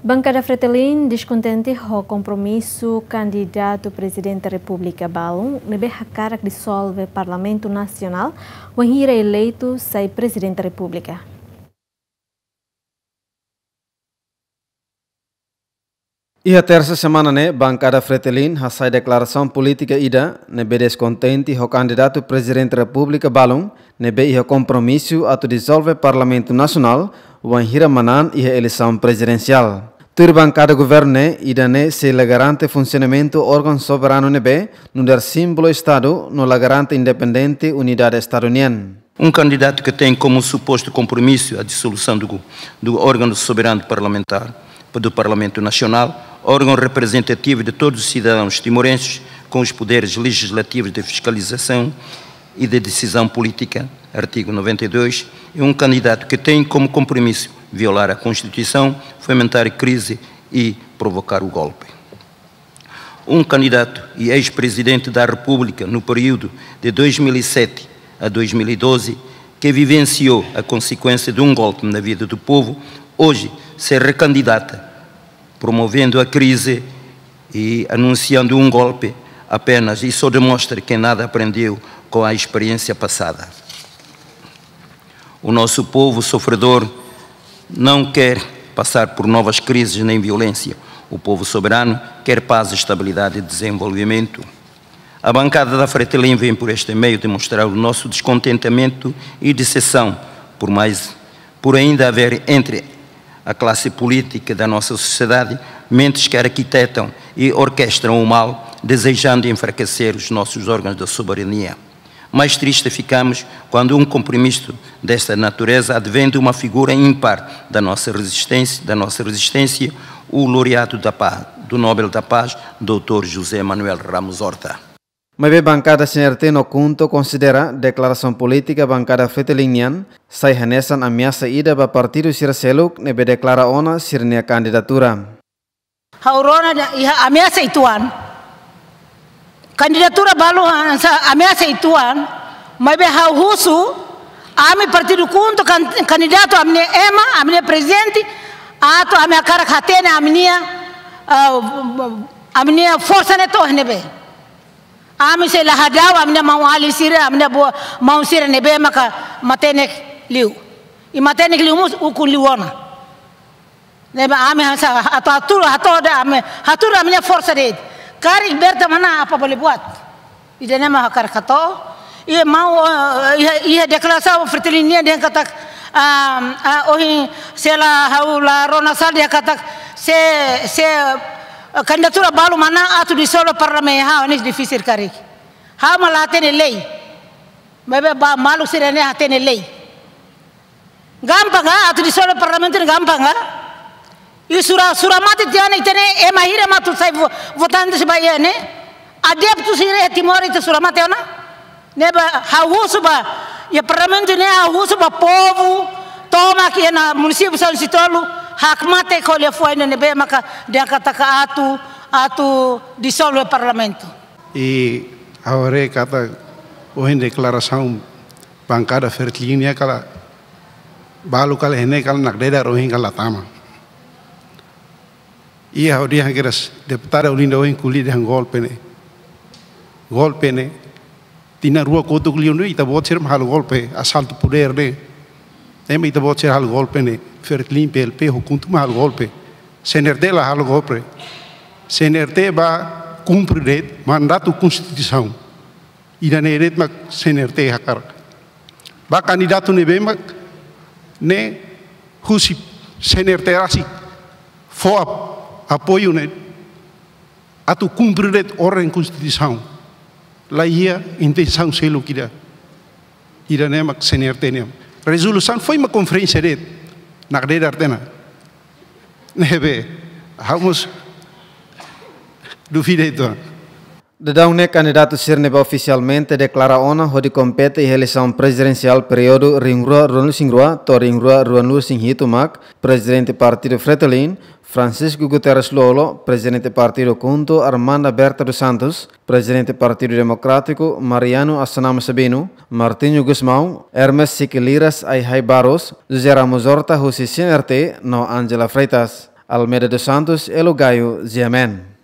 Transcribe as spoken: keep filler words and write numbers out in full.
Bankada Fretilin deskontente ho kompromisu kandidatu Prezidente Repúblika balun ne'ebé hakarak dizolve Parlamentu Nasionál wainhira eleitu sai Prezidente Repúblika. Iha tersa semana ne'e, Bankada Fretilin hasai deklarasaun polítika ida ne'ebé deskontente ho kandidatu Prezidente Repúblika balun ne'ebé iha kompromisu atu dizolve Parlamentu Nasionál wainhira manán iha eleisaun prezidensiál. Tuir bankada governu ne'e, ida-ne'e sei la garante funsionamentu órgaun soberanu ne'ebé nu'udar símbolu Estadu no la garante independente unidade Estadu nian. Um candidato que tem como suposto compromisso a dissolução do, do órgão soberano parlamentar, do Parlamento Nacional, órgão representativo de todos os cidadãos timorenses, com os poderes legislativos, de fiscalização e de decisão política, artigo noventa e dois, e um candidato que tem como compromisso violar a Constituição, fomentar crise e provocar o golpe. Um candidato e ex-presidente da República no período de dois mil e sete a dois mil e doze, que vivenciou a consequência de um golpe na vida do povo, hoje se recandidata, promovendo a crise e anunciando um golpe apenas, e só demonstra que nada aprendeu com a experiência passada. O nosso povo sofredor não quer passar por novas crises nem violência. O povo soberano quer paz, estabilidade e desenvolvimento. A bancada da Fretilin vem por este meio demonstrar o nosso descontentamento e decepção por mais, por ainda haver entre a classe política da nossa sociedade mentes que arquitetam e orquestram o mal, desejando enfraquecer os nossos órgãos da soberania. Mais triste ficamos quando um compromisso desta natureza advém de uma figura ímpar da nossa resistência, da nossa resistência, o laureado da paz, do Nobel da Paz, doutor José Manuel Ramos Horta. Maibé bankada C N R T no KHUNTO konsidera deklarasaun polítika bankada Fretilin nian sai hanesan ameasa ida ba partidu sira seluk ne'ebé deklara ona sira-nia kandidatura. Ha'u rona dehan iha ameasa uitoan. Kandidatura balu hanesan ameasa uitoan, maibé ha'u husu, ami partidu KHUNTO kan-, kandidatu ami-nia ema, ami-nia prezidente, atu ami hakarak hatene ami-nia, ah, ami-nia forsa ne'e to'o iha ne'ebé. Ami sei la hadau ami-nia maun-alin sira, ami-nia boot maun sira ne'ebé maka matenek liu. I matenek liu mós ukun liu ona. Ne'ebé ami hanesan atu hatuur, hatuur de'it ami, hatuur ami-nia forsa de'it. Karik Berta manán apa bele buat. Ida-ne'e mak hakarak hato'o. Iha maun, eh, iha, iha deklarasaun Fretilin nian dehan katak, ah, ah, ohin se la ha'u la rona sala dehan katak se, se, eh, kandidatura balu manán atu dizolve parlamentu, ha'u ne'e difisil karik. Ha'u mak la hatene lei. Maibé ba maluk sira-ne'e hatene lei. Gampang ka, atu dizolve parlamentu ne'e gampang ka? I sura, sura mate tiha ona ita-nia ema hira mak atu sai vo-, votante sira ba iha ne'e. Adeptu sira iha Timor ita sura mate ona. Ne'ebé ha'u husu ba, iha parlamentu ne'e ha'u husu ba povu, tomak iha munisípiu sanulu-resin-tolu, hakmatek ho liafuan ne'ebé maka dehan katak atu, atu dizolve parlamentu. I ha'u haree katak ohin deklarasaun bankada Fretilin nian kala balu kala iha ne'e kala nakdedar ohin kala tama. I ha'u dehan kedas deputada Olinda ohin ko'alia dehan golpe ne'e. Golpe ne'e. Tinan rua kotuk liu ne'e ita-boot sira mak halo golpe, asaltu podér ne'e. Ema ita-boot sira halo golpe ne'e. Fretilin, P L P, ho KHUNTO mak halo golpe. C N R T la halo golpe. C N R T bá kumpre de'it mandatu konstituisaun. Ida-ne'e de'it mak C N R T hakarak. Ba kandidatu ne'ebé mak ne'e husi C N R T rasik fó ap-, apoiu ne'e atu kumpre de'it orden konstituisaun. La iha intensaun seluk ida. Ida-ne'e mak C N R T nian. Rezolusaun foin mak konferénsia de'it. Nakdedar tiha ona. Ne'ebé, ha'u mós dúvida uitoan. Daudaun ne'e kandidatu sira ne'ebé ofisialmente deklara ona hodi kompete iha eleisaun prezidensiál períodu rihun rua ruanulu-resin-rua to'o rihun rua ruanulu-resin-hitu mak, Prezidente Partidu Fretilin, Francisco Guterres Lú-Olo, Prezidente Partidu KHUNTO Armanda Berta dos Santos, Prezidente Partidu Demokrátiku Mariano Assanama Sabino, Martinho Gusmão, Hermes Siquiliras Ai-Hai Barros, José Ramos Horta husi C N R T no Ángela Freitas. Almeida dos Santos, Elo Gayo, G M N.